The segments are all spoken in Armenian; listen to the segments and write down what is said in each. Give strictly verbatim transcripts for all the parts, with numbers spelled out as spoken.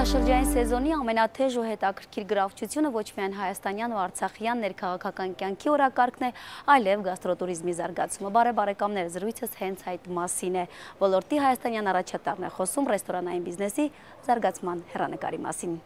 Զբոսաշրջային սեզոնի ամենաթեժ ու հետաքրքիր գրավչությունը ոչ միայն հայաստանյան ու արցախյան ներքաղաքական կյանքի օրակարգն է, այլև գաստրոտուրիզմի զարգացումը։ Բարև բարեկամներ, զրույցս հենց այդ մասին է։ Ոլորտի հայաստանյան առաջատարն է խոսում ռեստորանային բիզնեսի զարգացման հեռանկարի մասին։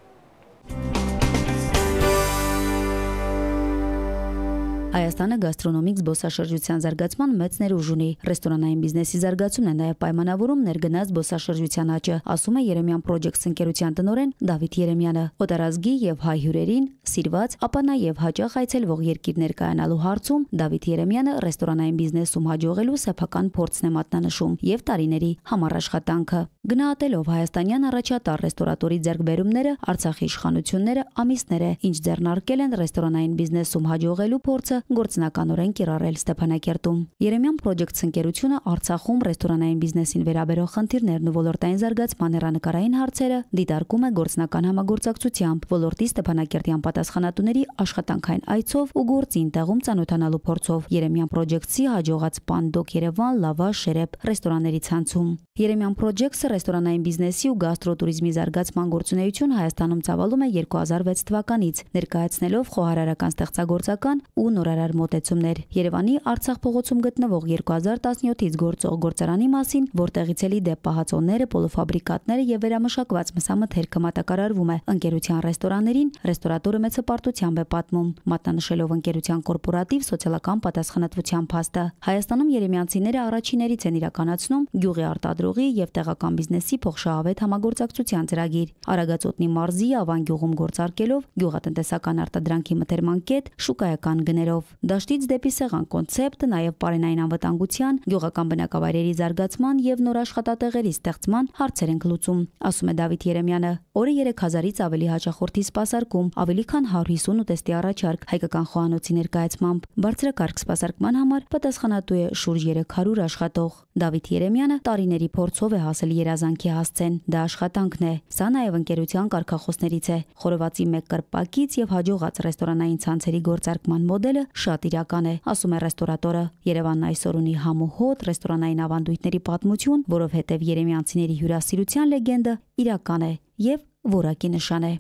Հայաստանը գաստրոնոմիկ զբոսաշրջության զարգացման մեծ ներուժ ունի։ Ռեստորանային բիզնեսի զարգացումն է նաև պայմանավորում ներգնաց զբոսաշրջության աճը, ասում է Երեմյան Projects ընկերության տնօրեն Դավիթ Երեմյանը։ Օտարազգի եւ հայ հյուրերին սիրված, ապա նաև հաճախ այցելվող երկիրներ կայանալու հարցում Դավիթ Երեմյանը ռեստորանային բիզնեսում հաջողելու սեփական փորձն է մատնանշում եւ տարիների համառ աշխատանքը։ Գնահատելով հայաստանյան առաջատար ռեստորատորի ձեռքբերումները, Արցախի իշխանությունները ամիսներ է, ինչ ձեռնարկել են ռեստորանային բիզնեսում հաջողելու փորձը գործնականորեն կիրառել Ստեփանակերտում։ Երեմյան Projects ընկերությունը Արցախում ռեստորանային բիզնեսին վերաբերող խնդիրներն ու ոլորտային զարգացման հեռանկարային հարցերը դիտարկում է գործնական համագործակցությամբ, ոլորտի Ստեփանակերտյան պատասխանատուների աշխատանքային այցով ու գործին տեղում ծանոթանալու փորձով Երեմյան Projects-ի հաջողած Պանդոկ Երևան, Լավաշ, Շերեփ ռեստորանների ցանցում։ Երեմյան Projects-ը ռեստորանային բիզնեսի ու գաստրոտուրիզմի զարգացման գործունեություն Հայաստանում ծավալում է երկու հազար վեց թվականից, ներկայացնելով խոհարարական ստեղծագործական ու նորարար մոտեցումներ։ Երևանի Արցախ փողոցում գտնվող երկու հազար տասնյոթից գործող գործարանի մասին, որտեղից էլի դե պահածոները, պոլոֆաբրիկատները եւ վերամշակված մսամթերքը մատակարարվում է ընկերության ռեստորաներին, ռեստորատորը մեծ հպարտությամբ է պատմում, մատնանշելով ընկերության կորպորատիվ սոցիալական պատասխանատվության փաստը։ Հայաստանում երեմյանցիները առաջիներից են իրականացնում գյուղի արտադրողի եւ տեղական բիզնեսի փոխշահավետ համագործակցության ծրագիր։ Արագածոտնի մարզի Ավան գյուղում գործարկելով գյուղատնտեսական արտադրանքի մթերման կետ շուկայական գներով։ Դաշտից դեպի սեղան կոնցեպտը նաև պարենային անվտանգության, գյուղական բնակավայրերի զարգացման եւ նոր աշխատատեղերի ստեղծման հարցեր են լուծում, ասում է Դավիթ Երեմյանը։ Օրը երեք հազարից ավելի հաճախորդի սպասարկում, ավելի քան հարյուր հիսուն ուտեստի առաջարկ հայկական խոհանոցի ներկայացմամբ։ Բարձրակարգ սպասարկման համար պատասխանատու է շուրջ երեք հարյուր աշխատող։ Դավիթ Երեմյանը տարիների փորձով է հասել երազանքի հասցեն։ Դա աշխատանքն է։ Սա նաև ընկերության կարգախոսներից է։ Խորովածի մեկ կրպակից եւ հաջողած ռեստորանային ցանցերի գործարկման մոդելը շատ իրական է, ասում է ռեստորատորը։ Երևանն այսօր ունի համ ու հոտ ռեստորանային ավանդույթների պատմություն, որովհետև երեմյանցիների հյուրասիրության լեգենդը իրական է եւ որակի նշան է։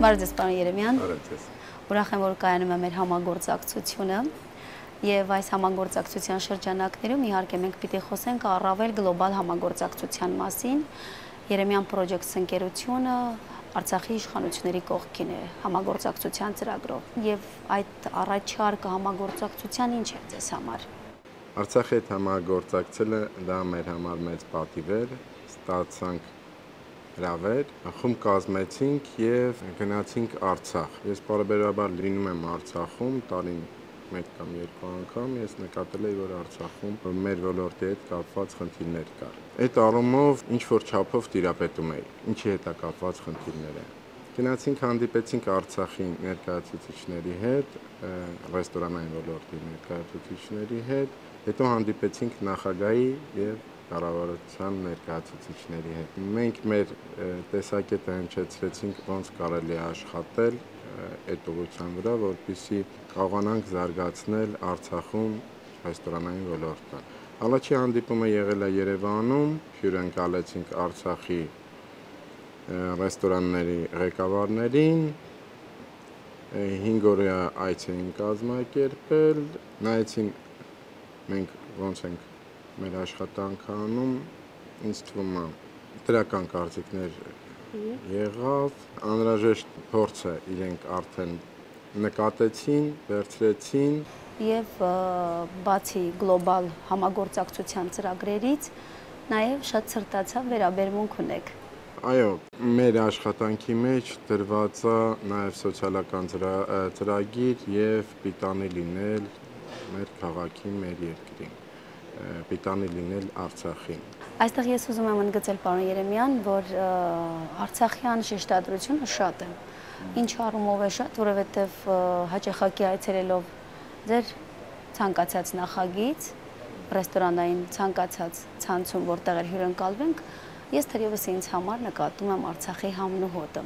Բարև ձեզ, պարոն Երեմյան։ Բարև ձեզ։ Ուրախ եմ, որ կայանում է մեր համագործակցությունը եւ այս համագործակցության շրջանակներում իհարկե մենք պիտի խոսենք առավել գլոբալ համագործակցության մասին։ Երեմյան Projects ընկերությունը Արցախի իշխանությունների կողքին է համագործակցության ծրագրով եւ այդ առաջարկը համագործակցության ինչ է ձեզ համար։ Արցախի հետ համագործակցելը դա մեր համար մեծ պատիվ էր, ստացանք հրավեր, խումբ կազմեցինք եւ գնացինք Արցախ։ Ես բարեբերաբար լինում եմ Արցախում տարին մեկ կամ երկու անգամ, ես նկատել եմ, որ Արցախում մեր ոլորտի հետ կապված խնդիրներ կար։ Այդ առումով ինչ որ չափով տիրապետում էի, ինչի հետ է կապված խնդիրները։ Գնացինք հանդիպեցինք Արցախի ներկայացուցիչների հետ, ռեստորանային ոլորտի ներկայացուցիչների հետ, հետո հանդիպեցինք նախագահի եւ կառավարության ներկայացուցիչների հետ։ Մենք մեր տեսակետը հնչեցրեցինք ոնց կարելի է աշխատել այդ ուղղության վրա, որպեսզի կարողանանք զարգացնել Արցախում ռեստորանային ոլորտը։ Առաջի հանդիպումը եղել է Երևանում, հյուրընկալեցինք Արցախի ռեստորանների ղեկավարներին, հինգ օրյա այց էին կազմակերպել, նայեցին մենք ոնց ենք մեր աշխատանքը անում, ինձ թվում է դրական կարծիքներ եղավ, անհրաժեշտ փորձը իրենք արդեն նկատեցին, վերցրեցին եւ բացի գլոբալ համագործակցության ծրագրերից նաեւ շատ սրտացավ վերաբերմունք ունեք։ Այո, մեր աշխատանքի մեջ դրված է նաեւ սոցիալական ծրագիր եւ պիտանի լինել մեր քաղաքի, մեր երկրին, պիտանի լինել Արցախին։ Այստեղ ես ուզում եմ ընդգծել, պարոն Երեմյան, որ արցախյան շեշտադրությունը շատ է։ Ինչ առումով է շատ, որովհետև հաճախակի այցելելով ձեր ցանկացած նախագիծ, ռեստորանային ցանկացած ցանցում, որտեղ էլ հյուրընկալվենք, ես թերևս ինձ համար նկատում եմ Արցախի համն ու հոտը։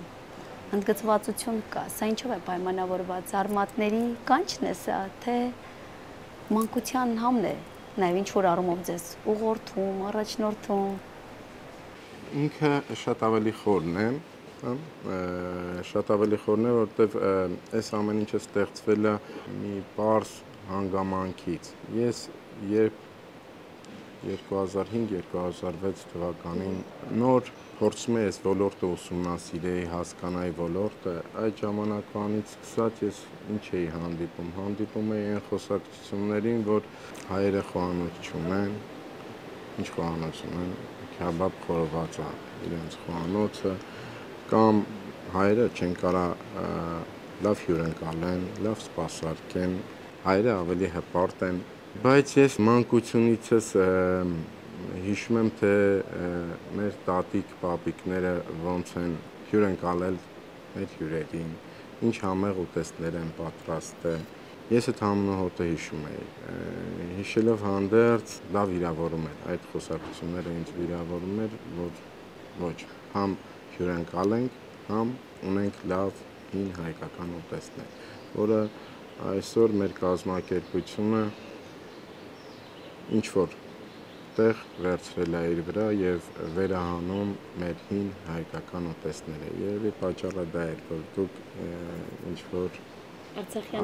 Ընդգծվածություն կա, սա ինչով է պայմանավորված, արմատների կանչն է սա, թե մանկության համն է նաև ինչ որ առումով ձեզ ուղղորդում, առաջնորդում։ Ինքը շատ ավելի խորն է, շատ ավելի խորն է, որովհետև այս ամեն ինչը ստեղծվել է մի պարզ հանգամանքից։ Ես երբ երկու հազար հինգ երկու հազար վեց թվականին նոր փորձում էի այս ոլորտը ուսումնասիրեի, հասկանայի ոլորտը, այդ ժամանակվանից սկսած ես ինչ էի հանդիպում, հանդիպում էի այն խոսակցություններին, որ հայերը խոհանոց չունեն, ինչ խոհանոց ունեն, քեբաբ խորոված է իրենց խոհանոցը, կամ հայերը չեն կարող լավ հյուրընկալեն, լավ սպասարկեն, հայերը ավելի հպարտ են, բայց ես մանկությունիցս հիշում եմ, թե մեր տատիկ, պապիկները ոնց են հյուրընկալել մեր հյուրերին, ինչ համեղ ուտեստներ են պատրաստել։ Ես այդ համնահոտը հիշում էի, հիշելով հանդերձ դա վիրավորում էր, այդ խոսակցությունները ինձ վիրավորում էր, որ ոչ, համ հյուրընկալենք, համ ունենք լավ հին հայկական ուտեստներ, որը այսօր մեր կազմակերպությունը ինչ-որ տեղ վերցրել է իր վրա և վերահանում մեր հին հայկական ուտեստները, երևի պատճառը դա էր, որ դուք ինչ-որ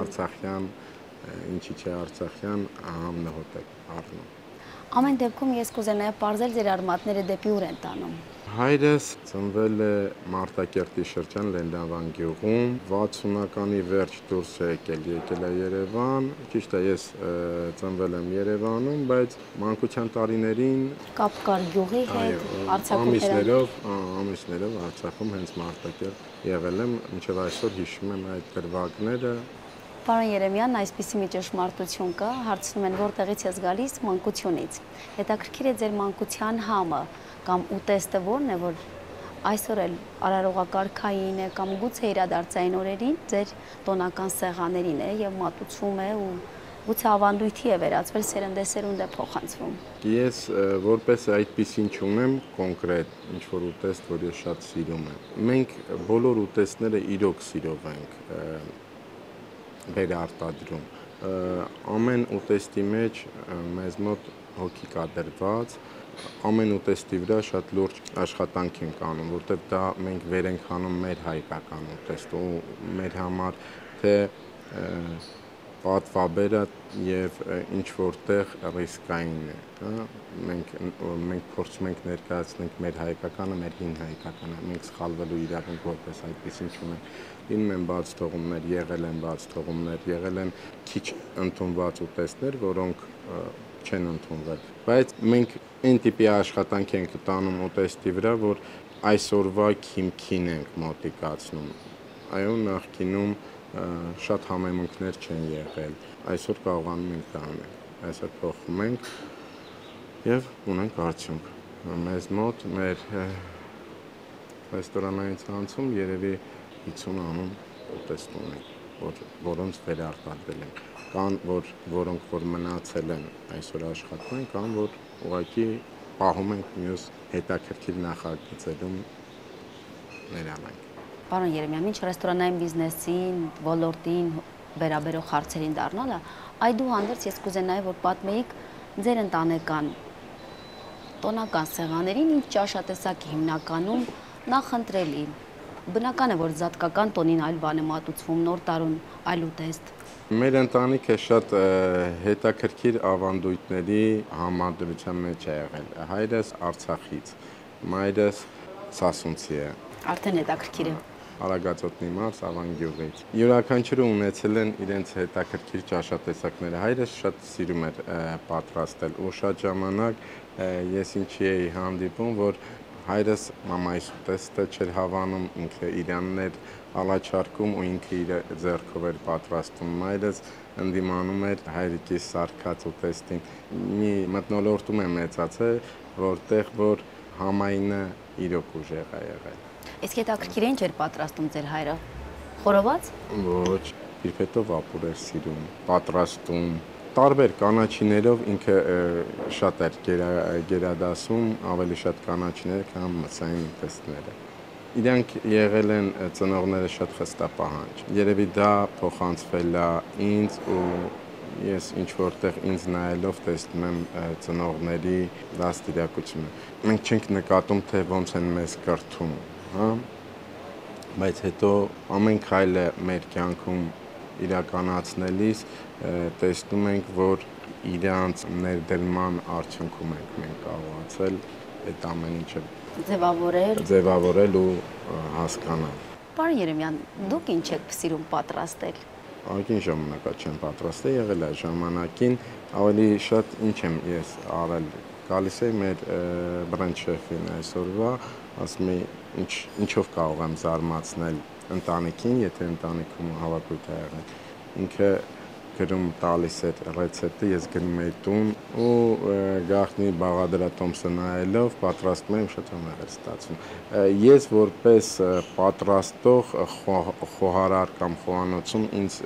արցախյան, ինչի չէ արցախյան համնահոտ եք առնում։ Ամեն դեպքում ես կուզենայի նաև պարզել ձեր արմատները դեպի ուր են տանում։ Հայրս ծնվել է Մարտակերտի շրջան Լեննավան գյուղում, վաթսունականի վերջ դուրս է եկել, եկել է Երևան, ճիշտ է, ես ծնվել եմ Երևանում, բայց մանկության տարիներին կապ կար գյուղի հետ, Արցախում ամիսներով, ամիսներով Արցախում հենց Մարտակերտ եղել եմ, մինչև այսօր հիշում եմ այդ գրվագները։ Պարոն Երեմյան, այսպիսի մի ճշմարտություն կա, հարցնում են որտեղից ես գալիս, մանկությունից։ Հետաքրքիր է ձեր մանկության համը կամ ուտեստը որն է, որ այսօր էլ արարողակարգային է կամ գուցե իրադարձային օրերին ձեր տոնական սեղաներին է և մատուցվում է ու գուցե ավանդույթի է վերածվել, սերնդեսերունդ է փոխանցվում։ Ես որպես այդպիսին չունեմ կոնկրետ ինչ-որ ուտեստ, որ ես շատ սիրում եմ։ Մենք բոլոր ուտեստները իրոք սիրով ենք վերարտադրում։ Ամեն ուտեստի մեջ մեզ մոտ հոգի կա դրված, ամեն ուտեստի վրա շատ լուրջ աշխատանք ենք անում, որտեղ դա մենք վեր ենք հանում մեր հայկական ուտեստը ու մեր համար թե պատվաբերը և ինչ որտեղ ռիսկային է, մենք մենք փորձում ենք ներկայացնենք մեր հայկականը, մեր հին հայկականը, մենք սխալվելու իրավունք որպես այդպեսին չունենք։ Լինում են բաց թողումներ, եղել են բաց թողումներ, եղել են քիչ ընդունված ուտեստներ, որոնք չեն ընդունվել, բայց մենք այն տիպի աշխատանք ենք տանում ուտեստի վրա, որ այսօրվա քիմքին ենք մոտիկացնում։ Այո, նախկինում շատ համեմունքներ չեն եղել, այսօր կարողանում ենք դա անել, այսօր փոխում ենք և ունենք արդյունք։ Մեզ մոտ մեր ռեստորանային ցանցում երևի հիսուն անուն ուտեստ ունենք, որոնց վերարտադրել ենք, կան որոնք որ մնացել են այսօր աշխատում են, կան որ ուղղակի պահում ենք մյուս հետաքրքիր նախագծերում ներառենք։ Պարոն Երեմյան, մինչ ռեստորանային բիզնեսին, ոլորտին վերաբերող հարցերին դառնալը, այդուհանդերձ ես կուզենայի, որ պատմեիք ձեր ընտանեկան տոնական սեղաներին, ինչ ճաշատեսակ է հիմնականում նախընտրելի։ Բնական է, որ զատկական տոնին այլ բան է մատուցվում, նոր տարուն այլ ուտեստ։ Մեր ընտանիքը շատ հետաքրքիր ավանդույթների համադրության մեջ է եղել։ Հայրս Արցախից, մայրս Սասունցի է։ Արդեն հետաքրքիր է։ Արագածոտնի մարզ Ավան գյուղից։ Յուրաքանչյուրը ունեցել են իրենց հետաքրքիր ճաշատեսակները։ Հայրս շատ սիրում էր պատրաստել ու շատ ժամանակ ես ինչի էի հանդիպում, որ հայրս մամայիս ուտեստը չէր հավանում, ինքը իրանն էր ալաչարկում ու ինքը իր ձեռքով էր պատրաստում։ Մայրս ընդդիմանում էր հայրիկիս սարքած ուտեստին։ Մի մթնոլորտում եմ մեծացել, որտեղ որ համայնը իրոք ուժեղ է եղել։ Իսկ հետաքրքիր ինչ էր պատրաստում ձեր հայրը։ Խորոված։ Ոչ, իրպետով ապուր էր սիրում, պատրաստում, տարբեր կանաչիներով ինքը շատ էր գերադասում, ավելի շատ կանաչիներ, քան մսային ուտեստները։ Իրանք եղել են ծնողները շատ խստապահանջ։ Երևի դա փոխանցվել է ինձ ու ես ինչ որտեղ ինձ նայելով տեսնում եմ ծնողների դաստիարակությունը։ Մենք չենք նկատում, թե ոնց են մեզ կրթում, հա, բայց հետո ամեն քայլը մեր կյանքում իրականացնելիս տեսնում ենք, որ իրանց ներդրման արդյունքում ենք մենք կարողացել այդ ամեն ինչը ձևավորել, ձևավորել ու հասկանալ։ Պարոն Երեմյան, դուք ինչ եք սիրում պատրաստել։ Ակին ժամանակա չեմ պատրաստել, եղել է ժամանակին, ավելի շատ ինչ եմ ես արել։ Գալիս էի մեր բրենդ շեֆին այսօրվա, ասում էի, ինչ ինչով կարող եմ զարմացնել ընտանիքին, եթե ընտանիքում հավաքույթ է եղել։ Ինքը գրում տալիս էր ռեցեպտը, ես գնում էի տուն ու գաղտնի Բաղադրատոմսը նայելով պատրաստում եմ, շատ համեղ էր ստացվում։ Ես որպես պատրաստող խոհարար կամ խոհանոցում ինձ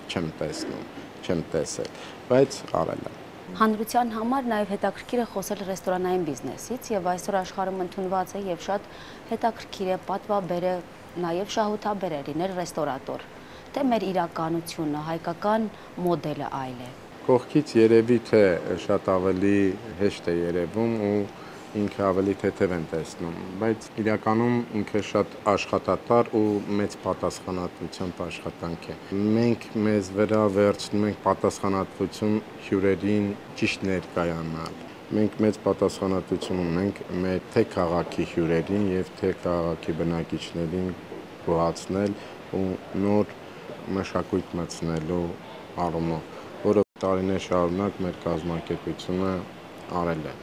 չեմ տեսնում, չեմ տեսել, բայց արել եմ։ Հանրության համար նաև հետաքրքիր է խոսել ռեստորանային բիզնեսից եւ այսօր աշխարհում ընդունված է եւ շատ հետաքրքիր է պատվաբեր է, նաև շահութաբեր է լինել ռեստորատոր, թե մեր իրականությունը, հայկական մոդելը այլ է։ Կողքից երևի թե շատ ավելի հեշտ է երևում ու ինքը ավելի թեթև են տեսնում, բայց իրականում ինքը շատ աշխատատար ու մեծ պատասխանատվությամբ աշխատանք է։ Մենք մեզ վրա վերցնում ենք պատասխանատվություն հյուրերին ճիշտ ներկայանալ։ Մենք մեծ պատասխանատվություն ունենք մեր թե քաղաքի հյուրերին եւ թե քաղաքի բնակիչներին գոհացնել ու նոր մշակույթ մտցնելու առումով, որը տարիներ շարունակ մեր կազմակերպությունը արել է։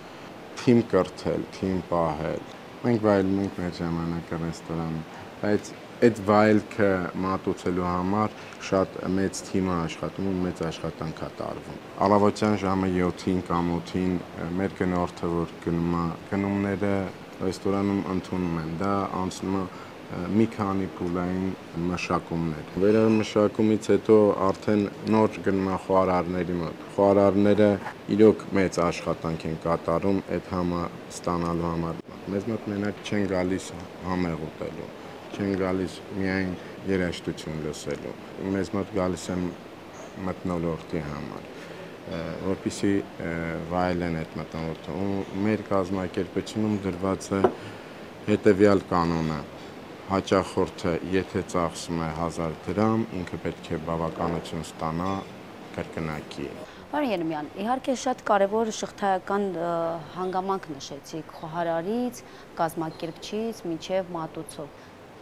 Թիմ կրթել, թիմ պահել։ Մենք վայելում ենք մեր ժամանակը ռեստորանում, բայց այդ վայելքը մատուցելու համար շատ մեծ թիմ է աշխատում ու մեծ աշխատանք է տարվում։ Առավոտյան ժամը յոթին կամ ութին մեր գնորդը, որ գնում է, գնումները ռեստորանում ընդունում են, դա անցնում է մի քանի փուլային մշակումներ։ Վերամշակումից հետո արդեն նոր գնում է խոհարարների մոտ։ Խոհարարները իրոք մեծ աշխատանք են կատարում այդ համը ստանալու համար։ Մեզ մոտ մենակ չեն գալիս համեղ ուտելու, չեն գալիս միայն երաժշտություն լսելու։ Մեզ մոտ գալիս են մթնոլորտի համար, որպեսզի վայելեն այդ մթնոլորտը։ Ու մեր կազմակերպությունում դրված է հետևյալ կանոնը. հաճախորդը եթե ծախսում է հազար դրամ, ինքը պետք է բավականություն ստանա կրկնակի։ Պարոն Երեմյան, իհարկե շատ կարևոր շղթայական հանգամանք նշեցիք խոհարարից, կազմակերպչից մինչև մատուցող,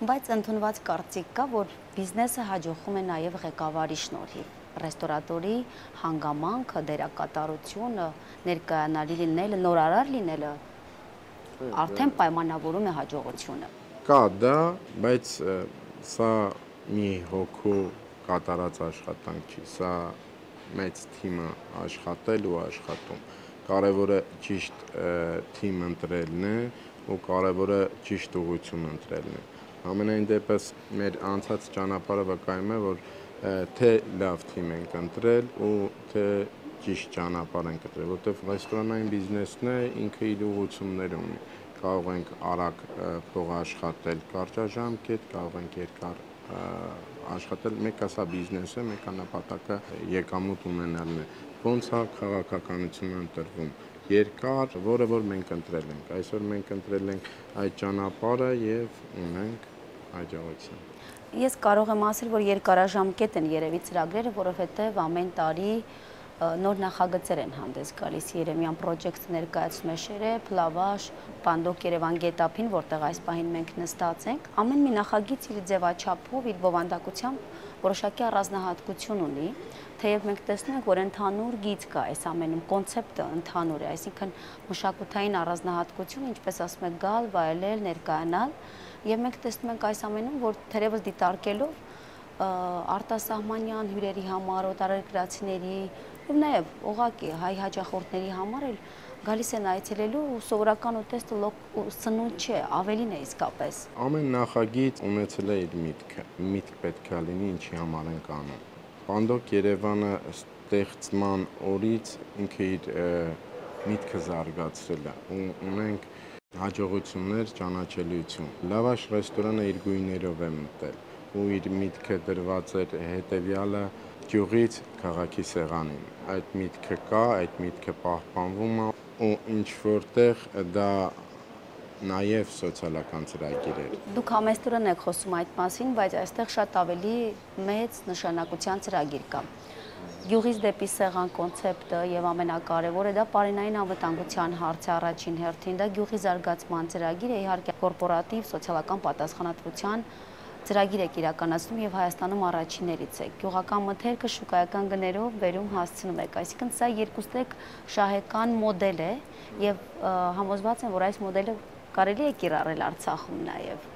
բայց ընդունված կարծիք կա, որ բիզնեսը հաջողվում է նաև ղեկավարի շնորհիվ։ Ռեստորատորի հանգամանքը, դերակատարությունը, ներկայանալի լինելը, նորարար լինելը արդեն պայմանավորում է հաջողությունը։ Կա դա, բայց սա մի հոգու կատարած աշխատանք չի, սա մեծ թիմը աշխատել ու աշխատում։ Կարևորը ճիշտ թիմ ընտրելն է ու կարևորը ճիշտ ուղղություն ընտրելն է։ Ամենայն դեպս մեր անցած ճանապարհը վկայում է, որ թե լավ թիմ ենք ընտրել ու թե ճիշտ ճանապարհ ենք ընտրել, որտեղ ռեստորանային բիզնեսն է, ինքը իր ուղղություններ ունի։ Կարող ենք արագ փող աշխատել կարճաժամկետ, կարող ենք երկար աշխատել, մեկը սա բիզնես է, մեկը նպատակը եկամուտ ունենալն է։ Ոնց է քաղաքականությունը ընտրվում։ Երկար, որը որ մենք ընտրել ենք։ Այսօր մենք ընտրել ենք այդ ճանապարհը եւ ունենք հաջողություն։ Ես կարող եմ ասել, որ երկարաժամկետ են երևի ծրագրերը, որովհետեւ ամեն տարի նոր նախագծեր են հանդես գալիս։ Երեմյան Project ներկայացնում է Շերեփ, Լավաշ, Պանդոկ Երևան գետափին, որտեղ այս պահին մենք նստած ենք։ Ամեն մի նախագիծ իր ձևաչափով, իր բովանդակությամբ որոշակի առանձնահատկություն ունի, թեև մենք տեսնում ենք, որ ընդհանուր գիծ կա այս ամենում, կոնցեպտը ընդհանուր է, այսինքն մշակութային առանձնահատկություն, ինչպես ասում եք, գալ, վայելել, ներկայանալ, եւ մենք տեսնում ենք այս ամենում, որ թերևս դիտարկելով արտասահմանյան հյուրերի համար, օտարերկրացիների եւ նաեւ ուղղակի հայ հաճախորդների համար էլ գալիս են այցելելու ու սովորական ուտեստը սնունդ չէ, ավելին է իսկապես։ Ամեն նախագիծ ունեցել է իր միտքը, միտք պետք է լինի ինչի համար ենք անում։ Պանդոկ Երևանը ստեղծման օրից ինքը իր միտքը զարգացրել է ու ունենք հաջողություններ, ճանաչելիություն։ Լավաշ ռեստորանը իր գույներով է մտել ու իր միտքը դրված էր հետևյալը գյուղից քաղաքի սեղանին։ Այդ միտքը կա, այդ միտքը պահպանվում է ու ինչ որտեղ դա նաև սոցիալական ծրագիր էր։ Դուք համեստորեն եք խոսում այդ մասին, բայց այստեղ շատ ավելի մեծ նշանակության ծրագիր կա։ Գյուղից դեպի սեղան կոնցեպտը եւ ամենակարևորը դա պարենային անվտանգության հարց է առաջին հերթին, դա գյուղի զարգացման ծրագիր է, իհարկե կորպորատիվ սոցիալական պատասխանատվության ծրագիր եք իրականացնում եւ Հայաստանում առաջիններից եք։ Գյուղական մթերքը շուկայական գներով վերում հասցնում եք, այսինքն սա երկուստեք շահեկան մոդել է եւ համոզված եմ, որ այս մոդելը կարելի է կիրառել Արցախում նաև։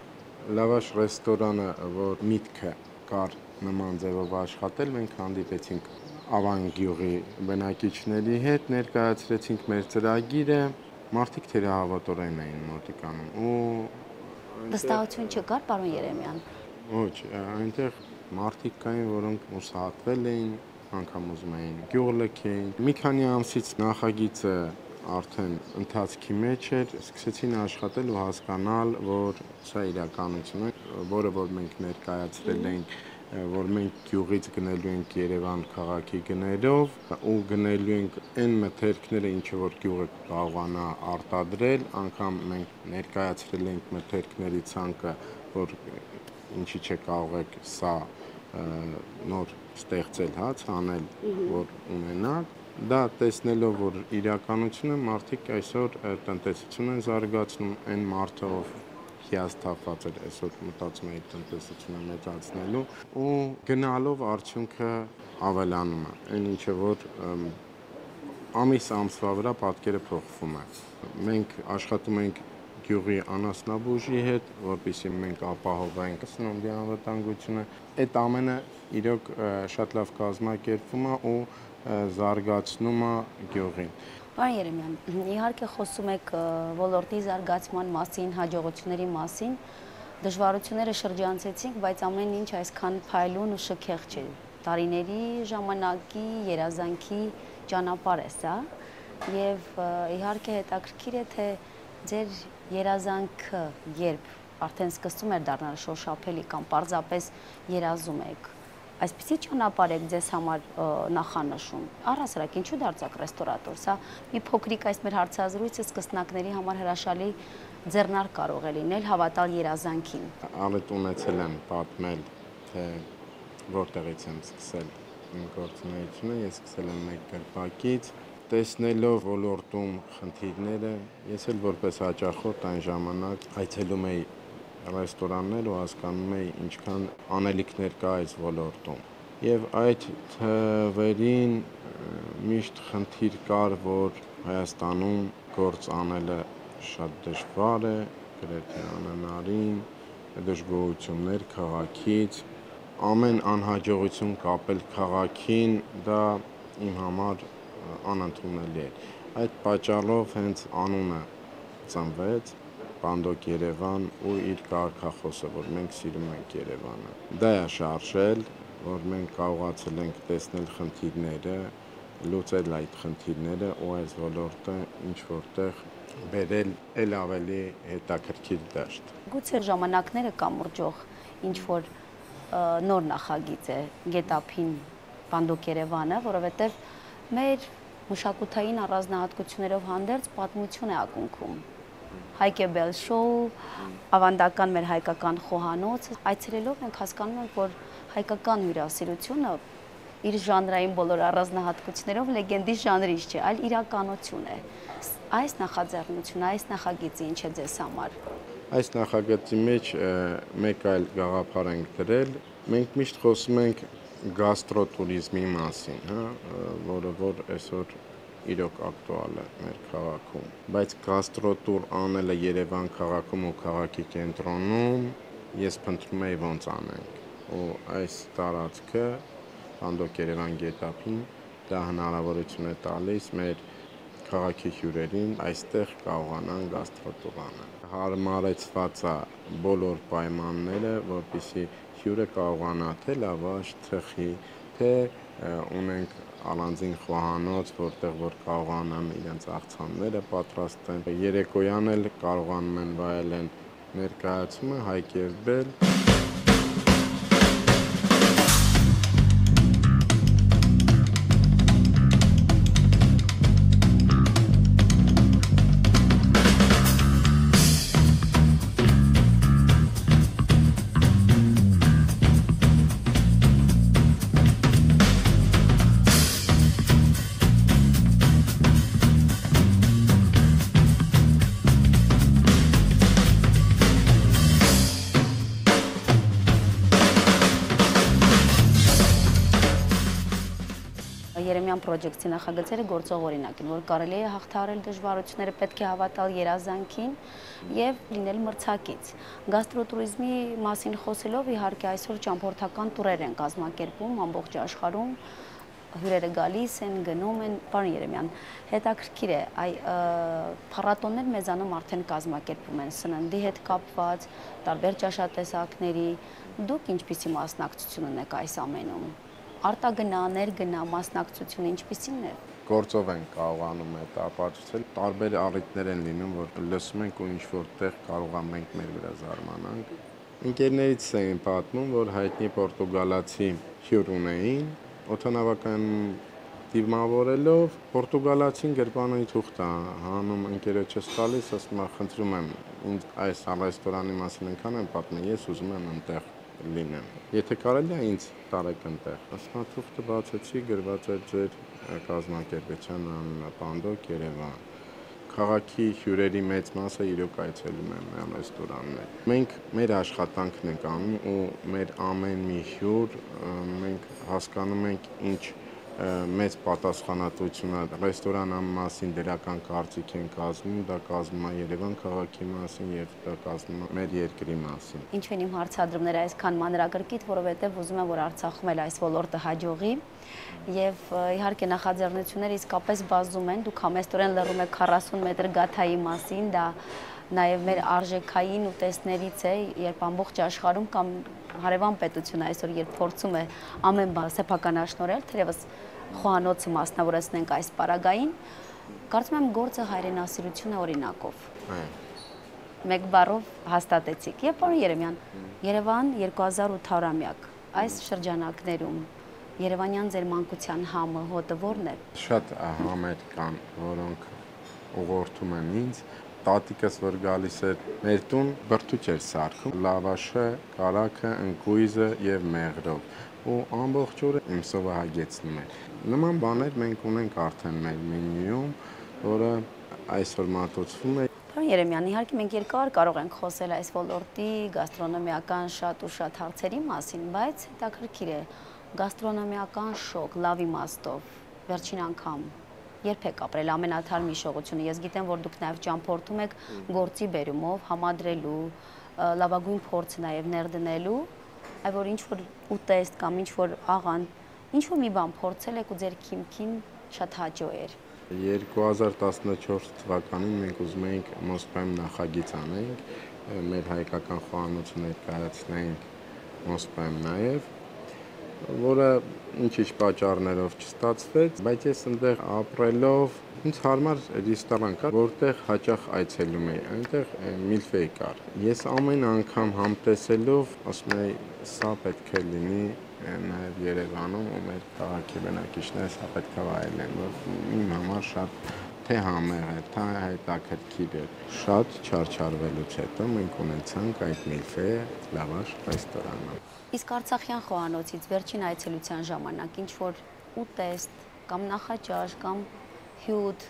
Լավաշ ռեստորանը, որ միտքը կար նման ձևով աշխատել, մենք հանդիպեցինք Ավան գյուղի բնակիչների հետ, ներկայացրեցինք մեր ծրագիրը, մարդիկ թերահավատորեն էին մոտիկանում ու վստահություն չկար, պարոն Երեմյան։ Ոչ, այնտեղ մարդիկ կային, որոնք ուսահատվել էին, անգամ ուզում էին գյուղ լքեին։ Մի քանի ամսից նախագիծը արդեն ընթացքի մեջ էր, սկսեցին աշխատել ու հասկանալ, որ սա իրականություն է, որը որ մենք ներկայացրել ենք, որ մենք գյուղից գնելու ենք Երևան քաղաքի գներով ու գնելու ենք այն մթերքները, ինչը որ գյուղը կարողանա արտադրել, անգամ մենք ներկայացրել ենք մթերքների ցանկը, որ ինչի՞ չէ կարող եք սա նոր ստեղծել, հա, ցանել, որ ունենաք։ Դա տեսնելով, որ իրականությունը մարդիկ այսօր տնտեսություն են զարգացնում, այն մարդը, ով հիասթափված էր, այսօր մտածում է տնտեսությունը մեծացնելու ու գնալով արդյունքը ավելանում է, այն ինչը որ ամիս ամսվա վրա պատկերը փոխվում է։ Մենք աշխատում ենք գյուղի անասնաբուժի հետ, որպեսզի մենք ապահովենք սննդի անվտանգությունը, այդ ամենը իրոք շատ լավ կազմակերպվում է ու զարգացնում է գյուղին։ Պարոն Երեմյան, իհարկե խոսում եք ոլորտի զարգացման մասին, հաջողությունների մասին, դժվարությունները շրջանցեցինք, բայց ամեն ինչ այսքան փայլուն ու շքեղ չէ։ Տարիների ժամանակի երազանքի ճանապարհ է սա, եւ իհարկե հետաքրքիր է, թե ձեր երազանքը երբ արդեն սկսում էր դառնալ շոշափելի կամ պարզապես երազում եք, այսպիսի ճանապարհ եք ձեզ համար նախանշում։ Առհասարակ ինչու դարձաք ռեստորատոր։ Սա մի փոքրիկ այս մեր հարցազրույցը սկսնակների համար հրաշալի ձեռնարկ կարող է լինել հավատալ երազանքին։ Ալետ ունեցել եմ պատմել, թե որտեղից եմ սկսել իմ գործունեությունը, ես սկսել եմ մեկ գրպակից, տեսնելով ոլորտում խնդիրները, ես էլ որպես հաճախորդ այն ժամանակ այցելում էի ռեստորաններ ու հասկանում էի ինչքան անելիքներ կա այս ոլորտում։ Եվ այդ թվերին միշտ խնդիր կար, որ Հայաստանում գործ անելը շատ դժվար է, գրեթե անհնարին, դժգոհություններ քաղաքից, ամեն անհաջողություն կապել քաղաքին, դա իմ համար անընդունելի էր։ Այդ պատճառով հենց անունը ծնվեց Պանդոկ Երևան ու իր կարգախոսը, որ մենք սիրում ենք Երևանը։ Դա է շարժել, որ մենք կարողացել ենք տեսնել խնդիրները, լուծել այդ խնդիրները ու այս ոլորտը ինչ որտեղ բերել էլ ավելի հետաքրքիր դաշտ։ Գուցե ժամանակները կամուրջող ինչ որ նոր նախագիծ է Գետափին Պանդոկ Երևանը, որովհետև մեր մշակութային առանձնահատկություններով հանդերձ պատմություն է ակունքում։ Հայկեբել շոու, ավանդական մեր հայկական խոհանոց, այցելելով մենք հասկանում ենք, որ հայկական հյուրասիրությունը իր ժանրային բոլոր առանձնահատկություններով լեգենդի ժանրից չէ, այլ իրականություն է։ Այս նախաձեռնությունը, այս նախագիծը ինչ է ձեզ համար։ Այս նախագծի մեջ մեկ այլ գաղափար ենք դրել։ Մենք միշտ խոսում ենք գաստրոտուրիզմի մասին, հա, որը որ այսօր իրոք ակտուալ է մեր քաղաքում, բայց գաստրոտուր անելը Երևան քաղաքում ու քաղաքի կենտրոնում ես փնտրում եի ոնց անենք, ու այս տարածքը Պանդոկ Երևան Գետափին դա հնարավորություն է տալիս մեր քաղաքի հյուրերին այստեղ կարողանան գաստրոտուր անել։ Հարմարեցված է բոլոր պայմանները, որպեսզի հյուրը կարողանա թե լավաշ, թխի, թե ունենք առանձին խոհանոց, որտեղ որ կարողանան իրենց աղցանները պատրաստեն։ Երեկոյան էլ կարողանում են վայելեն ներկայացումը Հայկերբել։ պրոջեկտի նախագծերը գործող օրինակ են, որ կարելի է հաղթահարել դժվարությունները, պետք է հավատալ երազանքին եւ լինել մրցակից։ Գաստրոտուրիզմի մասին խոսելով իհարկե այսօր ճամփորդական տուրեր են կազմակերպում ամբողջ աշխարհում, հյուրերը գալիս են, գնում են, պարոն Երեմյան, հետաքրքիր է, այ փառատոններ մեզանում արդեն կազմակերպում են սննդի հետ կապված, տարբեր ճաշատեսակների, դուք ինչպիսի մասնակցություն ունեք այս ամենում, արտագնա, ներգնա մասնակցությունը ինչպիսին է։ Գործով են կարողանում այդ ապացուցել, տարբեր առիթներ են լինում, որ լսում ենք ու ինչ-որ տեղ կարող ենք մեր վրա զարմանանք։ Ընկերներից էին պատմում, որ հայտնի պորտուգալացի հյուր ունեին, օդանավական դիմավորելով պորտուգալացին գրպանի թուղթ է հանում ընկերոջս տալիս, ասում է խնդրում եմ ինձ այս ռեստորանի մասին այնքան եմ պատմել, ես ուզում եմ այնտեղ լինեմ։ Եթե կարելի է ինձ տարեք այնտեղ։ Ասում է թուղթը բացեցի, գրված էր ձեր կազմակերպության անունը Պանդոկ Երևան։ Քաղաքի հյուրերի մեծ մասը իրոք այցելում են մեր ռեստորաններ։ Մենք մեր աշխատանքն ենք անում ու մեր ամեն մի հյուր մենք հասկանում ենք ինչ մեծ պատասխանատվություն է ռեստորանի մասին դրական կարծիք են կազմում, դա կազմում է Երևան քաղաքի մասին եւ դա կազմում է մեր երկրի մասին։ Ինչու են իմ հարցադրումները այսքան մանրակրկիտ, որովհետեւ ուզում եմ, որ Արցախում էլ այս ոլորտը հաջողի եւ իհարկե նախաձեռնությունները իսկապես բազում են, դուք համեստորեն լռում եք քառասուն մետր գաթայի մասին, դա նաև մեր արժեքային ուտեստներից է, երբ ամբողջ աշխարհում կամ հարևան պետությունը այսօր երբ փորձում է ամեն բան սեփականաշնորհել, թերևս խոհանոցը մասնավորեցնենք այս պարագային, կարծում եմ գործը հայրենասիրություն է օրինակով։ Մեկ բառով հաստատեցիք։ Եվ պարոն Երեմյան, Երևան երկու հազար ութ հարյուրամյակ, այս շրջանակներում Երևանյան ձեր մանկության համը, հոտը ո՞րն է։ Շատ համեր կան, որոնք ուղղորդում են ինձ։ Տատիկս, որ գալիս էր մեր տուն, բրդուճ էր սարքում, լավաշը, կարագը, ընկույզը եւ մեղրով ու ամբողջ օրը իմ սովը հագեցնում էր։ Նման բաներ մենք ունենք արդեն մեր մենյուում, որը այսօր մատուցվում է։ Պարոն Երեմյան, իհարկե մենք երկար կարող ենք խոսել այս ոլորտի գաստրոնոմիական շատ ու շատ հարցերի մասին, բայց հետաքրքիր է գաստրոնոմիական շոկ, լավ իմաստով, վերջին անգամ երբ եք ապրել ամենաթարմ հիշողությունը։ Ես գիտեմ, որ դուք նաև ճամփորդում եք գործի բերումով, համադրելու, լավագույն փորձը նաև ներդնելու, այ որ ինչ-որ ուտեստ կամ ինչ-որ աղան, ինչ-որ մի բան փորձել եք ու ձեր քիմքին շատ հաճո էր։ երկու հազար տասնչորս թվականին մենք ուզում էինք Մոսկվայում նախագիծ անենք, մեր հայկական խոհանոցը ներկայացնենք Մոսկվայում նաև, որը ինչ-ինչ պատճառներով չստացվեց, բայց ես այնտեղ ապրելով ինձ հարմար ռեստորան կար, որտեղ հաճախ այցելում էի, այնտեղ միլֆեյ կար։ Ես ամեն անգամ համտեսելով ասում էի, սա պետք է լինի նաև Երևանում ու մեր քաղաքի բնակիչները սա պետք է վայելեն, որ իմ համար շատ թե համեղ է, թե հետաքրքիր է։ Շատ չարչարվելուց հետո մենք ունեցանք այդ միլֆեյ լավաշ ռեստորանը։ Իսկ Արցախյան խոհանոցից վերջին այցելության ժամանակ ինչ որ ուտեստ կամ նախաճաշ կամ հյութ,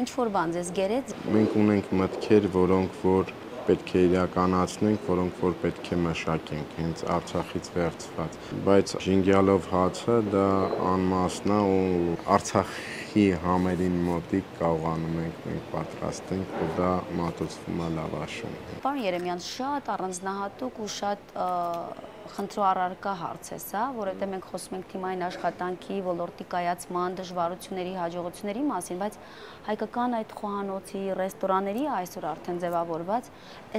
ինչ որ բան ձեզ գերեց։ Մենք ունենք մտքեր, որոնք որ պետք է իրականացնենք, որոնք որ պետք է մշակենք, հենց Արցախից վերցված։ Բայց ժինգյալով հացը դա անմասն է ու Արցախի համերին մոտիկ կարողանում ենք մենք պատրաստենք ու դա մատուցվում է լավաշում։ Պարոն Երեմյան, շատ առանձնահատուկ ու շատ խնդրու առարկա հարց է սա, որովհետև մենք խոսում ենք թիմային աշխատանքի, ոլորտի կայացման, դժվարությունների, հաջողությունների մասին, բայց հայկական այդ խոհանոցի, ռեստորանների այսօր արդեն ձևավորված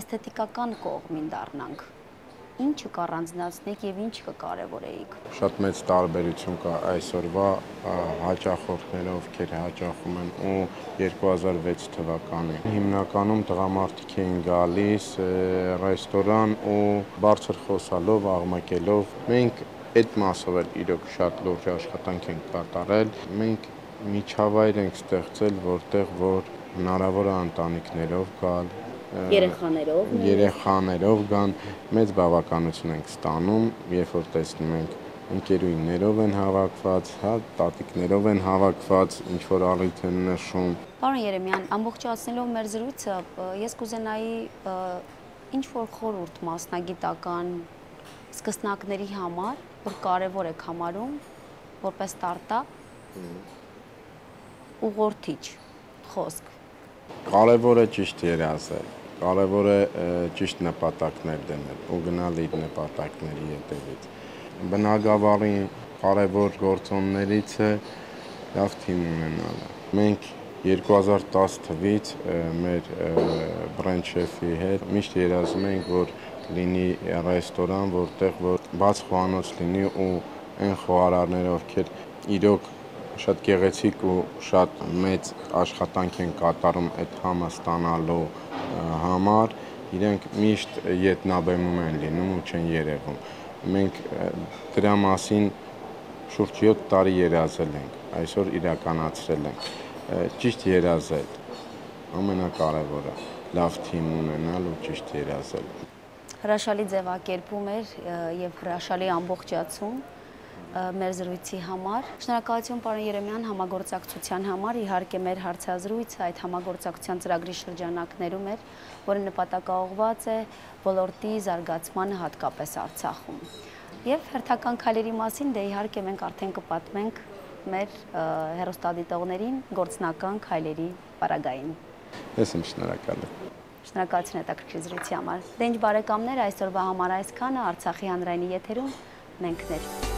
էսթետիկական կողմին դառնանք։ Ինչը կառանձնացնեք եւ ինչ կկարևորեիք։ Շատ մեծ տարբերություն կա այսօրվա հաճախորդներով, ովքեր հաճախում են ու երկու հազար վեց թվականին։ Հիմնականում տղամարդիկ էին գալիս ռեստորան ու բարձր խոսալով, աղմկելով։ Մենք այդ մասով էլ իրոք շատ լուրջ աշխատանք ենք կատարել։ Մենք միջավայր ենք ստեղծել, որտեղ որ հնարավոր է ընտանիքներով գալ, երեխաներով, երեխաներով գան, մեծ բավականություն ենք ստանում, երբ որ տեսնում ենք ընկերուհիներով են հավաքված, հա, տատիկներով են հավաքված, ինչ որ առիթ են նշում։ Պարոն Երեմյան, ամբողջացնելով մեր զրույցը, ես կուզենայի ինչ որ խորհուրդ մասնագիտական սկսնակների համար, որ կարևոր եք համարում, որպես ստարտափ, ուղղորդիչ խոսք։ Կարևորը ճիշտ երազել, կարևոր է ճիշտ նպատակներ դնել ու գնալ իր նպատակների հետևից։ Բնագավառի կարևոր գործոններից է լավ թիմ ունենալը։ Մենք երկու հազար տասը թվականից մեր բրենդ շեֆի հետ միշտ երազում ենք, որ լինի ռեստորան, որտեղ որ բաց խոհանոց լինի ու այն խոհարարները, ովքեր իրոք շատ գեղեցիկ ու շատ մեծ աշխատանք են կատարում այդ համը ստանալու համար, իրենք միշտ ետնաբեմում են լինում ու չեն երևում։ Մենք դրա մասին շուրջ յոթ տարի երազել ենք, այսօր իրականացրել ենք։ Ճիշտ երազել, ամենակարևորը, լավ թիմ ունենալ ու ճիշտ երազել։ Հրաշալի ձևակերպում էր եւ հրաշալի ամբողջացում մեր զրույցի համար։ Շնորհակալություն պարոն Երեմյան համագործակցության համար, իհարկե մեր հարցազրույցը այդ համագործակցության ծրագրի շրջանակներում էր, որը նպատակաուղղված է ոլորտի զարգացմանը հատկապես Արցախում։ Եվ հերթական քայլերի մասին դե իհարկե մենք արդեն կպատմենք մեր հեռուստադիտողներին գործնական քայլերի պարագային։ Ես եմ շնորհակալ։ Շնորհակալություն հետաքրքիր զրույցի համար։ Դե ինչ բարեկամներ, այսօրվա համար այսքանը, Արցախի հանրայինի եթերում մենք ներ։